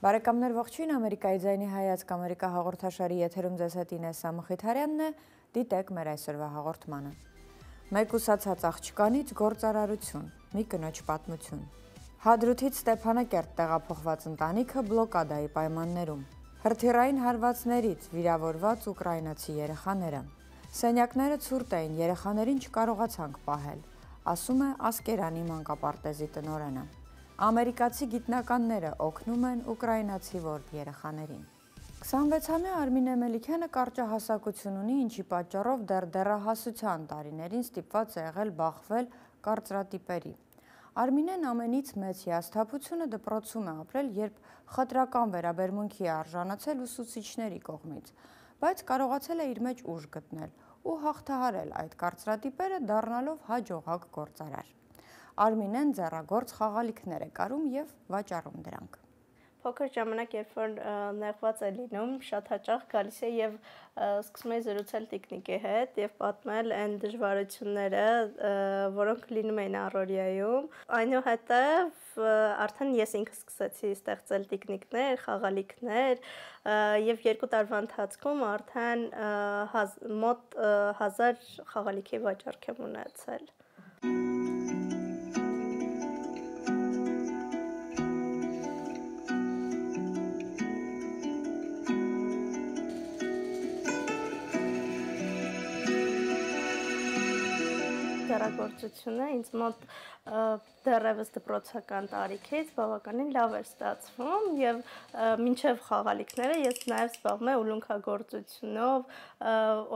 Բարեկամներ ողջույն, Ամերիկայի ձայնի հայացք Ամերիկա հաղորդաշարի եթերում ձեզ հետ Ինեսսա Մխիթարյանն է, դիտեք մեր այսօրվա հաղորդմանը։ Մեկ ուսացած աղջկանից գործարարություն, մի կնոջ պատմություն։ Հադրութից Ստեփանակերտ տեղափոխված ընտանիքը բլոկադայի պայմաններում։ Հրթիռային հարվածներից վիրավորված ուկրաինացի երեխաները։ Սենյակները ցուրտ էին, երեխաներին չկարողացանք պահել, ասում է Ասկերանի մանկապարտեզի տնօրենը։ Ամերիկացի գիտնականները օգնում են ուկրաինացի որբ երեխաներին։ 26-ամյա Արմինե Մելիքյանը կարճահասակություն ունի, ինչի պատճառով դեռ դեռահասության տարիներին ստիպված է եղել բախվել կարծրատիպերի։ Արմինեն ամենից մեծ հիասթափությունը դպրոցում է ապրել, երբ խտրական վերաբերմունքի է արժանացել ուսուցիչների կողմից, բայց կարողացել է իր մեջ ուժ գտնել ու հաղթահարել այդ կարծրատիպերը, դառնալով հաջողակ գործարար։ Արմինեն ձեռագործ խաղալիքներ է կարում և վաճառում դրանք։ Փոքր ժամանակ, երբ որ նեղված է լինում, շատ հաճախ գալիս է և սկսում է զրուցել տիկնիկի հետ և պատմել այն դժվարությունները, որոնք լինում էին առօրյայում։ Այնուհետև արդեն ես ինքս սկսեցի ստեղծել տիկնիկներ, խաղալիքներ և 2 տարվա ընթացքում արդեն մոտ 1000 խաղալիքի վաճառք եմ ունեցել։ Ձեռագործությունը ինձ մոտ դեռևս դպրոցական տարիքից բավականին լավ էր ստացվում և մինչև խաղալիքները ես նաև զբաղվում եմ ուլունքագործությունով,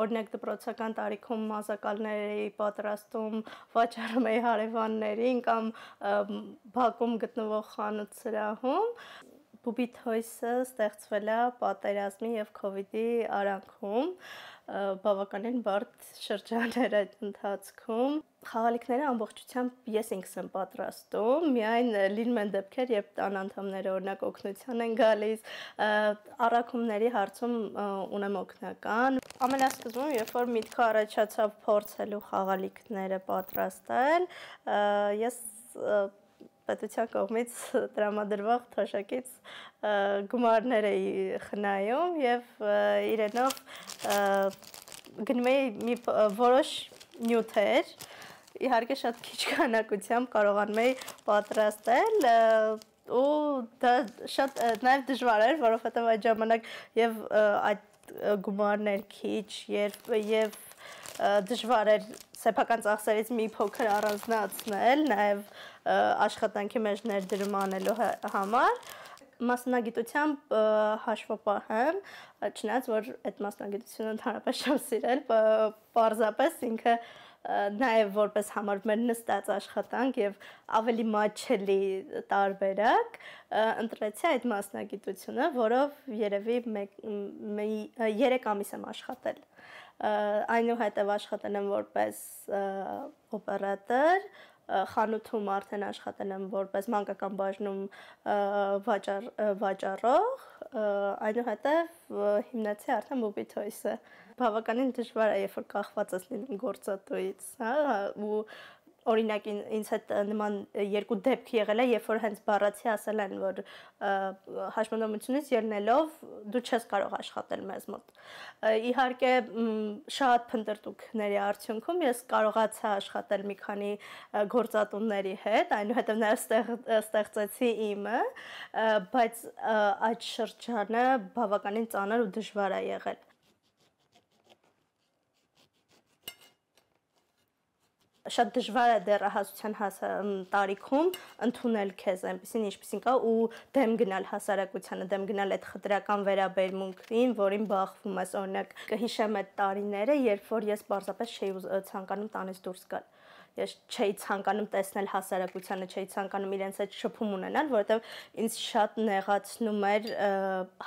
օրինակ դպրոցական տարիքում մազակալներ էի պատրաստում, վաճառում էի հարևաններին կամ բակում գտնվող խանութ սրահում։ Բուբի Թոյսը ստեղծվել է պատերազմի և քովիդի արանքում, բավականին բարդ շրջան էր այդ ընթացքում։ Խաղալիքները ամբողջությամբ ես ինքս եմ պատրաստում, միայն լինում են դեպքեր, երբ տան անդամները օրինակ օգնության են գալիս, առաքումների հարցում ունեմ օգնական։ Ամենասկզբում, երբ որ միտքը առաջացավ փորձելու խաղալիքները պատրաստել, ես պետության կողմից տրամադրվող թոշակից գումարներ էի խնայում և իրենով գնում էի մի որոշ նյութեր, իհարկե շատ քիչ քանակությամբ կարողանում էի պատրաստել ու դա շատ նաև դժվար էր, որովհետև այդ ժամանակ և այդ գումարներ քիչ և դժվար էր սեփական ծախսերից մի փոքր առանձնացնել, նաև աշխատանքի մեջ ներդրում անելու համար։ Մասնագիտությամբ հաշվապահ եմ, չնայած որ այդ մասնագիտությունը ընդհանրապես չեմ սիրել, պարզապես ինքը նաև որպես համարվում էր նստած աշխատանք և ավելի մատչելի տարբերակ, ընտրեցի այդ մասնագիտությունը, որով երևի 3 ամիս եմ աշխատել։ Այնուհետև աշխատել եմ որպես օպերատոր, խանութում արդեն աշխատել եմ որպես մանկական բաժնում վաճառող, այնուհետև հիմնեցի արդեն Բուբի Թոյսը։ Բավականին դժվար է, երբ որ կախված ես լինում գործատուից, ու օրինակ ինձ հետ նման 2 դեպք եղել է, երբ որ հենց բառացի ասել են, որ հաշմանդամությունից ելնելով դու չես կարող աշխատել մեզ մոտ։ Իհարկե շատ փնտրտուքների արդյունքում ես կարողացա աշխատել մի քանի գործատուների հետ, այնուհետև նաև ստեղծեցի իմը, բայց այդ շրջանը բավականին ծանր ու դժվար է եղել։ Շատ դժվար է դեռահասության տարիքում ընդունել քեզ այնպիսին, ինչպիսին կա ու դեմ գնալ հասարակությանը, դեմ գնալ այդ խտրական վերաբերմունքին, որին բախվում ես, օրինակ կհիշեմ այդ տարիները, երբ որ ես պարզապես չէի ցանկանում տանից դուրս գալ։ Ես չէի ցանկանում տեսնել հասարակությանը, չէի ցանկանում իրենց հետ շփում ունենալ, որովհետև ինձ շատ նեղացնում էր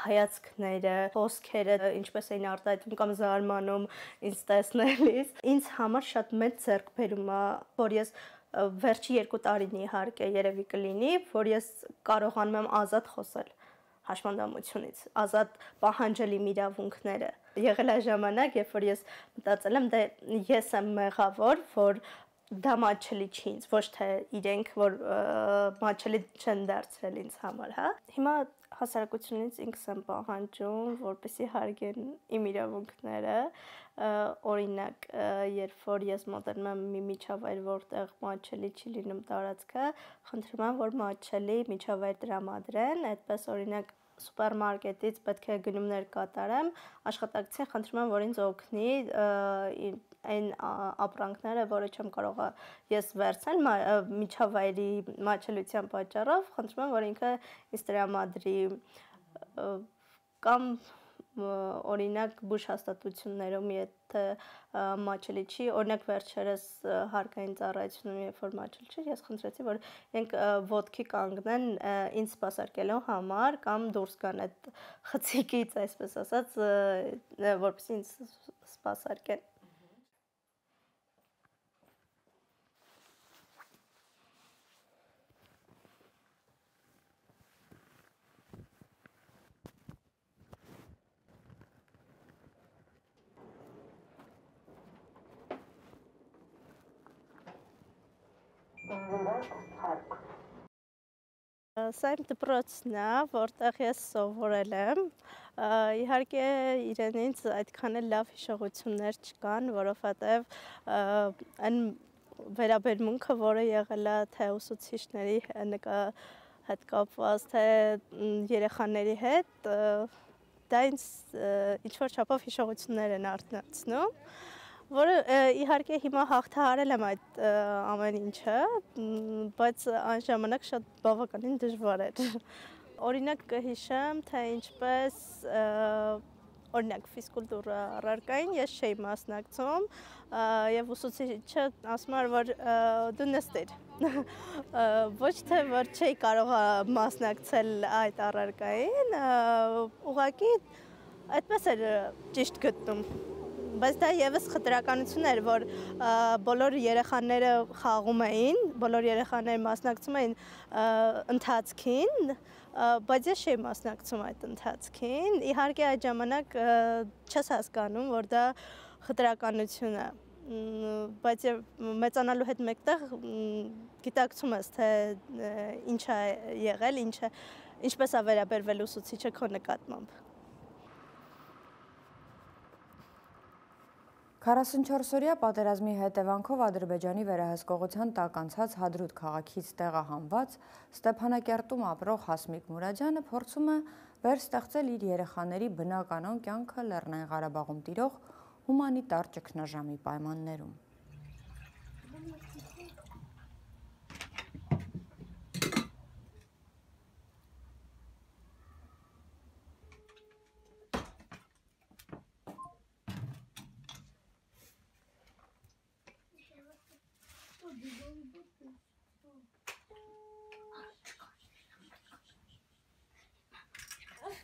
հայացքները, խոսքերը, ինչպես էին արտահայտվում կամ զարմանում ինձ տեսնելիս։ Ինձ համար շատ մեծ ձեռքբերում է, որ ես վերջի 2 տարին իհարկե երևի կլինի, որ ես կարողանում եմ ազատ խոսել հաշմանդամությունից, ազատ պահանջել իմ իրավունքները։ Եղել է ժամանակ, երբ որ ես մտածել եմ, դե ես եմ մեղավոր, որ դա մատչելի չի ինձ, ոչ թե իրենք, որ մատչելի չեն դարձրել ինձ համար, հա։ Հիմա հասարակությունից ինքս եմ պահանջում, որպեսզի հարգեն իմ իրավունքները, օրինակ, երբ որ ես մոտենում եմ մի միջավայր, որտեղ մատչելի չի լինում տարածքը, խնդրում եմ, որ մատչելի միջավայր տրամադրեն, այդպես օրինակ սուպերմարկետից պետք է գնումներ կատարեմ, աշխատակցին խնդրում եմ, որ ինձ օգնի այն ապրանքները, որը չեմ կարող ես վերցնել միջավայրի մատչելիության պատճառով, խնդրում եմ, որ ինքը ինձ տրամադրի կամ օրինակ բուժ հաստատություններում, եթե մատչելի չի, օրինակ վերջերս հարկային ծառայությունում, երբ որ մատչելի չի, ես խնդրեցի, որ իրենք ոտքի կանգնեն ինձ սպասարկելու համար կամ դուրս գան այդ խցիկից, այսպես ասած, որպեսզի ինձ սպասարկեն։ Սա իմ դպրոցն է, որտեղ ես սովորել եմ, իհարկե իրենից այդքան էլ լավ հիշողություններ չկան, որովհետև այն վերաբերմունքը, որը եղել է թե ուսուցիչների հետ կապված, թե երեխաների հետ, դա ինձ ինչ-որ չափով հիշողություններ են արթնացնում, որը իհարկե հիմա հաղթահարել եմ այդ ամեն ինչը, բայց այն ժամանակ շատ բավականին դժվար էր։ Օրինակ կհիշեմ, թե ինչպես օրինակ ֆիզկուլտուրա առարկային ես չէի մասնակցում եւ ուսուցիչը ասում էր, որ դու նստիր։ Ոչ թե որ չէի կարող մասնակցել այդ առարկային, ուղղակի այդպես էր ճիշտ գտնում։ Բայց դա եւս խտրականություն էր, որ բոլոր երեխաները խաղում էին, բոլոր երեխաները մասնակցում էին ընթացքին, բայց ես չէի մասնակցում այդ ընթացքին։ Իհարկե այդ ժամանակ չես հասկանում, որ դա խտրականություն է, բայց մեծանալու հետ մեկտեղ գիտակցում ես, թե ինչ է եղել, ինչպես է վերաբերվել ուսուցիչը քո նկատմամբ։ 44-օրյա պատերազմի հետևանքով Ադրբեջանի վերահսկողության տակ անցած Հադրութ քաղաքից տեղահանված Ստեփանակերտում ապրող Հասմիկ Մուրադյանը փորձում է վերստեղծել իր երեխաների բնականոն կյանքը Լեռնային Ղարաբաղում տիրող հումանիտար ճգնաժամի պայմաններում։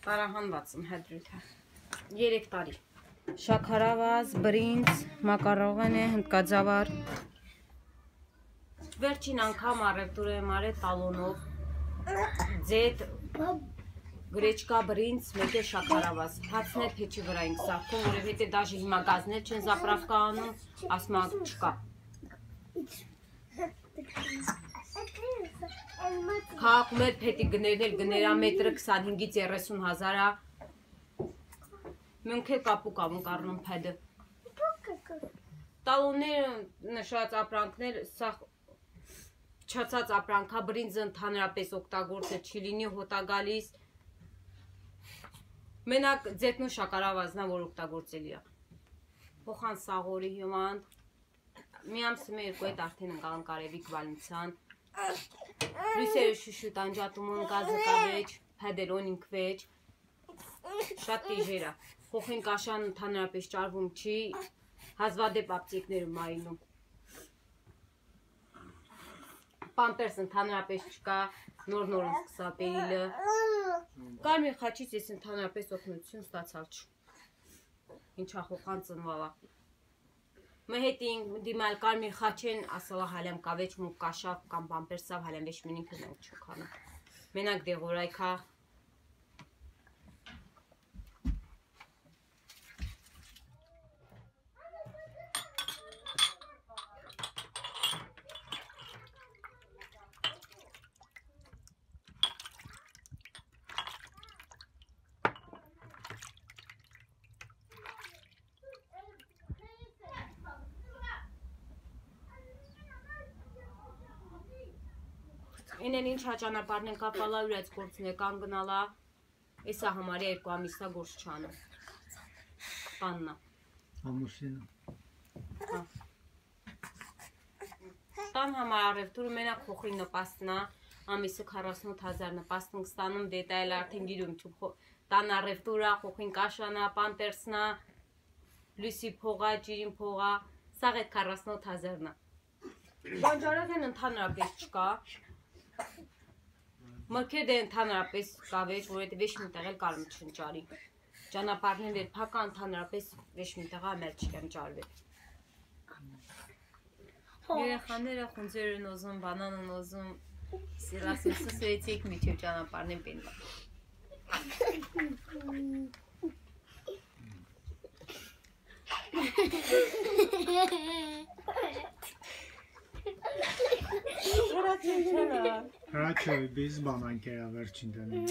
Տարահանված եմ Հադրութը 3 տարի։ Շաքարավազ, բրինձ, մակարողեն է, հնդկաձավար։ Վերջին անգամ առևտուր եմ արել տալոնով, ձետ, գրեչկա, բրինձ, մեկ է շաքարավազ։ Հացներ փեչի վրա ենք սարքում, որովհետև դաժե հիմա գազներ չեն զապրավկա անում, ասում չկա։ Քաղաքում էլ փետի գներն գներամետրը 25-ից 30 հազար է։ Մենք էլ կապուկ ամուկ առնում փեդը։ Տալոնները նշած ապրանքներ, սա չացած ապրանքա, բրինձը ընդհանրապես օգտագործը չի լինի, հոտա գալիս։ Մենակ ձետնու շաքարավազնա, որ օգտագործելի է։ Փոխան սաղորի հյուման, մի ամսի երկու հետ արդեն ընկան կարևիկ վալնցան։ Լույսերը շուշուտ անջատում են գազը կավեջ, փեդերոն ինքվեջ, շատ տիժեր է, խոխին կաշան ընդհանրապես ճարվում չի, հազվադեպ ապտիկներում այնում, պամպերս ընդհանրապես չկա, նոր սկսա պերիլը, կարմիր խաչից ես ընդհանրապես օգնություն ստացալ չու, ինչա խոխան ծնվալա։ Մը հետին դիմալ կարմիր խաչեն ասալա հալեմ կավեջ մուկ կաշավ կամ պամպերսավ հալեմ վեշ մինինքը մենք չուքանը։ Մենակ դեղորայքա Ինեն ինչ հաճանապարն են կապալա ուրեց գործն է կանգնալա, էսա համարի 2 ամիսա գործ չանում։ Տաննա։ Ամուսինը։ Տան համար առևտուրը մենակ փոխի նպաստնա, ամիսը 48,000 նպաստն ստանում դետայլ արդեն գիրում չու տան առևտուրա, փոխին կաշանա, պանտերսնա, լույսի փողա, ջիրին փողա, սաղ այդ 48,000-նա։ Բանջարեղեն ընդհանրապես չկա։ Մրգեր դե ընդհանրապես կա վեճ, որովհետև ոչ մի տեղ էլ կարում չընճարի։ Ճանապարհն էլ փակա ընդհանրապես ոչ մի տեղ ամեր չկան ճարվել։ Երեխաները խունձեր են ուզում, բանան են ուզում, սիրասին սուսրեցիք միջև ճանապարհն են պենվա։ Հրաչը բիզ բանան կերա վերջին դնում։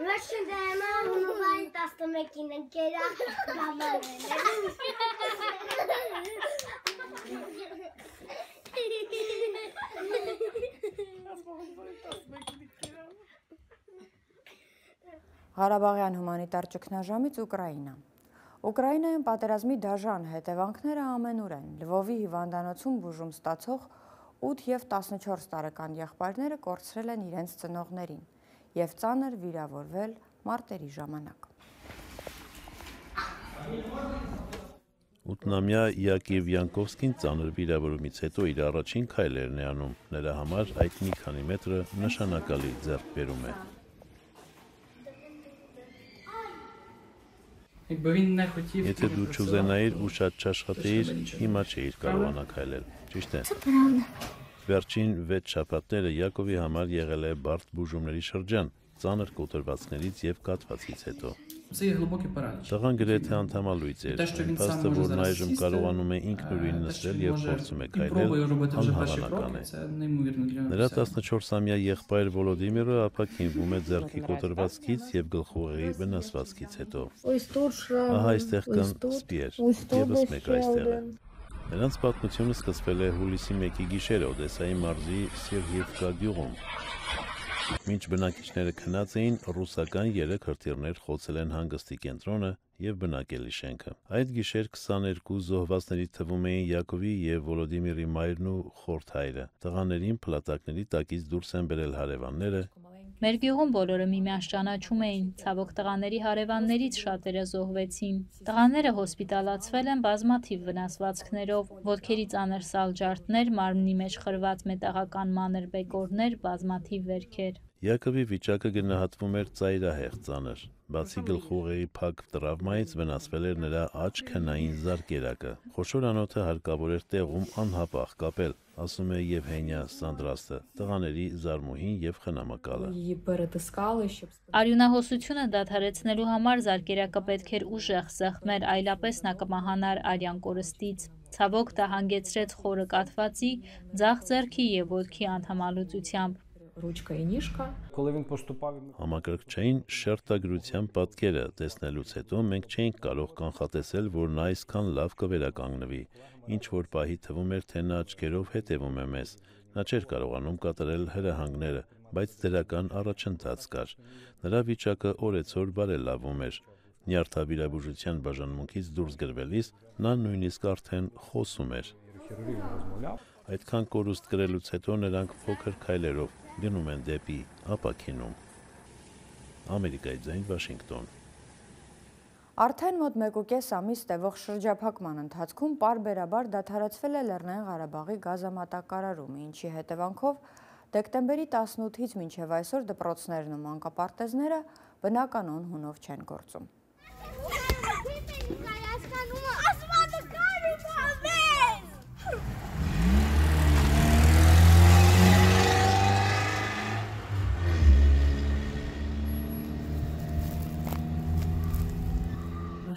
Վերջին դեմը հունվարի 11-ին ընկերա Ղարաբաղյան հումանիտար ճգնաժամից Ուկրաինա։ Ուկրաինայում պատերազմի դաժան հետևանքները ամենուր են։ Լվովի հիվանդանոցում բուժում ստացող 8 և 14 տարեկան եղբայրները կորցրել են իրենց ծնողներին և ծանր վիրավորվել մարտերի ժամանակ։ 8-ամյա Յակիվ Յանկովսկին ծանր վիրավորումից հետո իր առաջին քայլերն է անում։ Նրա համար այդ մի քանի մետրը նշանակալի ձեռքբերում է։ Եթե դու չուզենայիր ու շատ չաշխատեիր, հիմա չէիր կարողանա քայլել, ճիշտ է։ Վերջին 6 շաբաթները Յակովի համար եղել է բարդ բուժումների շրջան, ծանր կոտրվածքներից և կաթվածից հետո։ Տղան գրեթե անդամալույծ էր, փաստը, որն այժմ կարողանում է ինքնուրույն նստել և փորձում է քայլել, անհավանական է։ Նրա 14-ամյա եղբայր Վոլոդիմիրը ապաքինվում է ձեռքի կոտրվածքից և գլխուղեղի վնասվածքից հետո։ Ահա այստեղ կան սպիեր, ևս մեկ այստեղ է։ Նրանց պատմությունը սկսվել է հուլիսի 1-ի գիշերը Օդեսայի մարզի Սերգիևկա գյուղում։ Մինչ բնակիչները քնած էին, ռուսական 3 հրթիռներ խոցել են հանգստի կենտրոնը և բնակելի շենքը։ Այդ գիշեր 22 զոհվածների թվում էին Յակովի և Վոլոդիմիրի մայրն ու խորթ հայրը։ Տղաներին փլատակների տակից դուրս են բերել հարևանները։ Մեր գյուղում բոլորը միմյանց ճանաչում էին, ցավոք տղաների հարևաններից շատերը զոհվեցին։ Տղաները հոսպիտալացվել են բազմաթիվ վնասվածքներով, ոտքերի ծանր սալջարդներ, մարմնի մեջ խրված մետաղական մանր բեկորներ, բազմաթիվ վերքեր։ Յակովի վիճակը գնահատվում էր ծայրահեղ ծանր։ Բացի գլխուղեղի փակ տրավմայից վնասվել էր նրա աջ քնային զարկերակը։ Խոշոր անոթը հարկավոր էր տեղում անհապաղ կապել, ասում է Եվհենիա Սանդրաստը, տղաների զարմուհին և խնամակալը։ Արյունահոսությունը դադարեցնելու համար զարկերակը պետք էր ուժեղ սեղմել, այլապես նա կմահանար արյան կորստից։ Ցավոք դա հանգեցրեց խորը կաթվածի, ձախ ձեռքի և ոտքի անդամալուծությամբ։ Համակարգչային շերտագրության պատկերը տեսնելուց հետո մենք չէինք կարող կանխատեսել, որ նա այսքան լավ կվերականգնվի, ինչ որ պահի թվում էր, թե նա աչքերով հետևում է մեզ, նա չէր կարողանում կատարել հրահանգները, բայց դրական առաջընթաց կար, նրա վիճակը օրեցօր բարելավում էր, նյարդավիրաբուժության բաժանմունքից դուրս գրվելիս նա նույնիսկ արդեն խոսում էր։ Այդքան կորուստ կրելուց հետո նրանք փոքր քայլերով գնում են դեպի ապաքինում։ Ամերիկայի ձայն, Վաշինգտոն։ Արդեն մոտ 1.5 ամիս տևող շրջափակման ընթացքում պարբերաբար դադարեցվել է Լեռնային Ղարաբաղի գազամատակարարումը, ինչի հետևանքով դեկտեմբերի 18-ից մինչև այսօր դպրոցներն ու մանկապարտեզները բնականon հունով չեն գործում։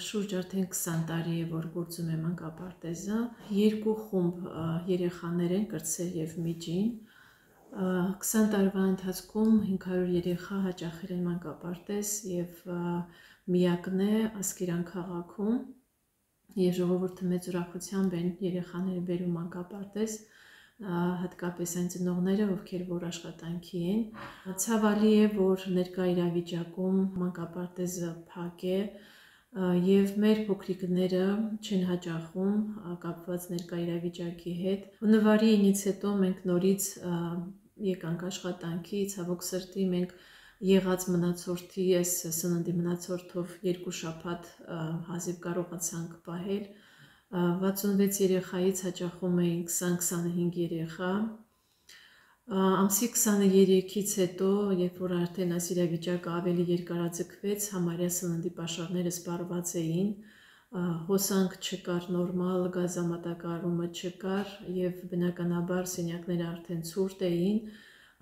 Շուրջ արդեն 20 տարի է, որ գործում է մանկապարտեզը, 2 խումբ երեխաներ են, կրտսեր և միջին, 20 տարվա ընթացքում 500 երեխա հաճախել են մանկապարտեզ և միակն է Ասկերան քաղաքում և ժողովուրդը մեծ ուրախությամբ են երեխաները բերում մանկապարտեզ, հատկապես այն ծնողները, ովքեր որ աշխատանքի են։ Ցավալի է, որ ներկա իրավիճակում մանկապարտեզը փակ է եւ մեր փոքրիկները չեն հաճախում կապված ներկա իրավիճակի հետ։ Հունվարի 9-ից հետո մենք նորից եկանք աշխատանքի, ցավոք սրտի մենք եղած մնացորդի այս սննդի մնացորդով 2 շաբաթ հազիվ կարողացանք պահել։ 66 երեխայից հաճախում էին 20-25 երեխա։ Ամսի 23-ից հետո, երբ որ արդեն այս իրավիճակը ավելի երկարաձգվեց, համարյա սննդի պաշարները սպառված էին, հոսանք չկար նորմալ, գազամատակարարումը չկար եւ բնականաբար սենյակները արդեն ցուրտ էին,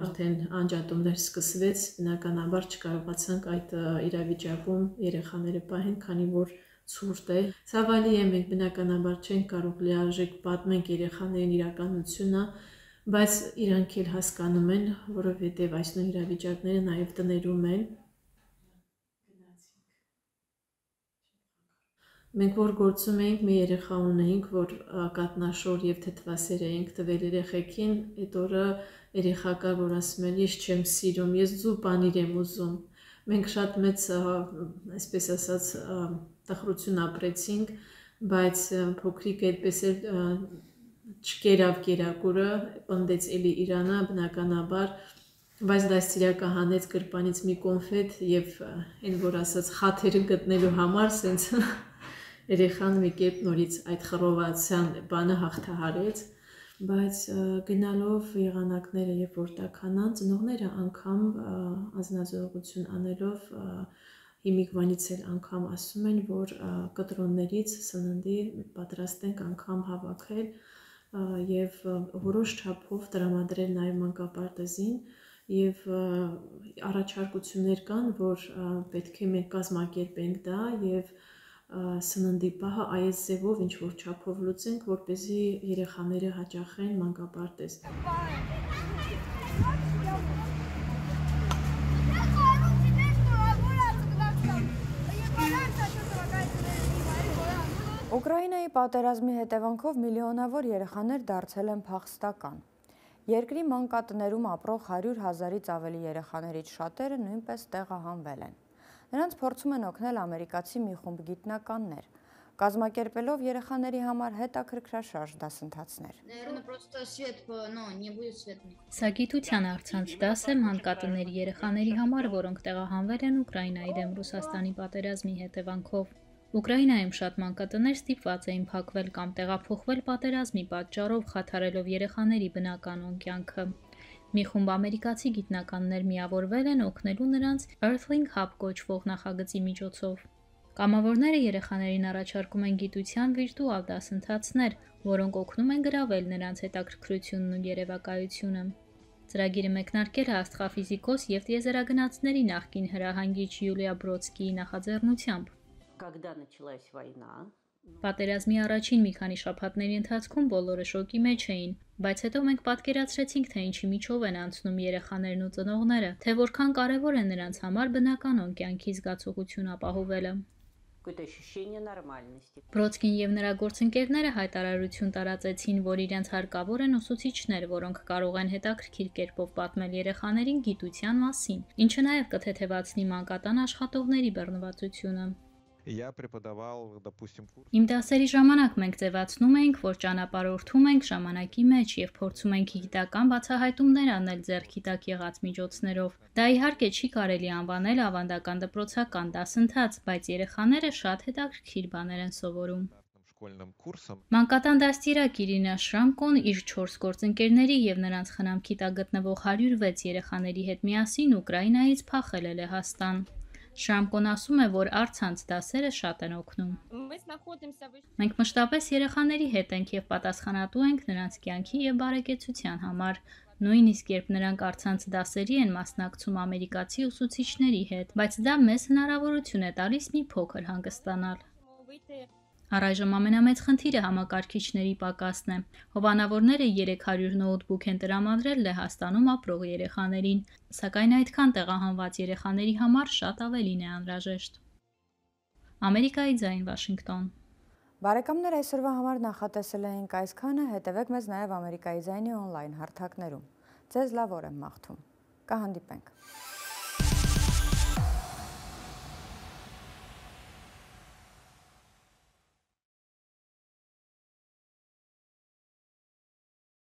արդեն անջատումներ սկսվեց, բնականաբար չկարողացանք այդ իրավիճակում երեխաները պահեն, քանի որ ցուրտ է։ Ցավալի է, մենք բնականաբար չենք կարող լիարժեք պատմենք երեխաներին իրականությունը, բայց իրանք էլ հասկանում են, որովհետև այս նույն իրավիճակները նաև տներում են։ Մենք որ գործում էինք, մի երեխա ունեինք, որ կատնաշոր եւ թթվասեր էինք տվել երեխեքին, այդ օրը երեխա կար, որ ասում էր, ես չեմ սիրում, ես ձու պանիր եմ ուզում։ Մենք շատ մեծ, այսպես ասած, տխրություն ապրեցինք, բայց փոքրիկ այդպես էլ չկերավ կերակուրը, պնդեց էլի Իրանը, բնականաբար, բայց դաստիարակը հանեց գրպանից մի կոնֆետ եւ այն որ ասած խաթերը գտնելու համար սենց երեխան մի կերպ նորից այդ խռովացան բանը հաղթահարեց, բայց գնալով եղանակները երբ որ տաքանան, ծնողները անգամ անձնազոհություն անելով հիմիկվանից էլ անգամ ասում են, որ կտրոններից սննդի պատրաստենք անգամ հավաքել եւ որոշ չափով տրամադրել նաեւ մանկապարտեզին եւ առաջարկություններ կան, որ պետք է մենք կազմակերպենք դա եւ սննդի պահը այս ձևով ինչ որ չափով լուծենք, որպեսզի երեխաները հաճախեն մանկապարտեզ։ Ուկրաինայի պատերազմի հետևանքով միլիոնավոր երեխաներ դարձել են փախստական։ Երկրի մանկատներում ապրող 100 000-ից ավելի երեխաներից շատերը նույնպես տեղահանվել են։ Նրանց փորձում են օգնել ամերիկացի մի խումբ գիտնականներ, կազմակերպելով երեխաների համար հետաքրքրաշարժ դասընթացներ։ Սա գիտության առցանց դաս է մանկատների երեխաների համար, որոնք տեղահանվել են Ուկրաինայի դեմ Ռուսաստանի պատերազմի հետևանքով։ Ուկրաինայում շատ մանկատներ ստիպված էին փակվել կամ տեղափոխվել պատերազմի պատճառով, խաթարելով երեխաների բնականon կյանքը։ Մի խումբ ամերիկացի գիտնականներ միավորվել են օգնելու նրանց Earthling Hub կոչվող նախագծի միջոցով։ Կամավորները երեխաներին առաջարկում են գիտության վիրտուալ դասընթացներ, որոնք օգնում են գրավել նրանց հետաքրքրությունն ու երևակայությունը։ Ծրագիրը մեկնարկել է աստղաֆիզիկոս եւ տիեզերագնացների նախկին հրահանգիչ Յուլիա Բրոդսկիի նախաձեռնությամբ։ Պատերազմի առաջին մի քանի շաբաթների ընթացքում բոլորը շոկի մեջ էին, բայց հետո մենք պատկերացրեցինք, թե ինչի միջով են անցնում երեխաներն ու ծնողները, թե որքան կարևոր է նրանց համար բնականon կյանքի զգացողություն ապահովելը։ Բրոդսկին եւ նրա գործընկերները հայտարարություն տարածեցին, որ իրենց հարկավոր են ուսուցիչներ, որոնք կարող են հետաքրքիր կերպով պատմել երեխաներին գիտության մասին, ինչը նաեւ կթեթևացնի մանկատան աշխատողների բռնվածությունը։ Իմ դասերի ժամանակ մենք ձևացնում էինք, որ ճանապարհորդում ենք ժամանակի մեջ եւ փորձում ենք գիտական բացահայտումներ անել ձեռքի տակ եղած միջոցներով։ Դա իհարկե չի կարելի անվանել ավանդական դպրոցական դասընթաց, բայց երեխաները շատ հետաքրքիր բաներ են սովորում։ Մանկատան դաստիարակ Իրինա Շրամկոն իր 4 գործընկերների եւ նրանց խնամքի տակ գտնվող 106 երեխաների հետ միասին Ուկրաինայից փախել է Լեհաստան։ Շրամկոն ասում է, որ առցանց դասերը շատ են օգնում։ Մենք մշտապես երեխաների հետ ենք եւ պատասխանատու ենք նրանց կյանքի եւ բարեկեցության համար։ Նույնիսկ երբ նրանք առցանց դասերի են մասնակցում ամերիկացի ուսուցիչների հետ, բայց դա մեզ հնարավորություն է տալիս մի փոքր հանգստանալ։ Առայժմ ամենամեծ խնդիրը համակարգիչների պակասն է։ Հովանավորները 300 նոութբուք են տրամադրել Լեհաստանում ապրող երեխաներին, սակայն այդքան տեղահանված երեխաների համար շատ ավելին է անհրաժեշտ։ Ամերիկայի ձայն, Վաշինգտոն։ Բարեկամներ, այսօրվա համար նախատեսել էինք այսքանը, հետևեք մեզ նաև Ամերիկայի ձայնի օնլայն հարթակներում։ Ձեզ լավ օր եմ մաղթում։ Կհանդիպենք։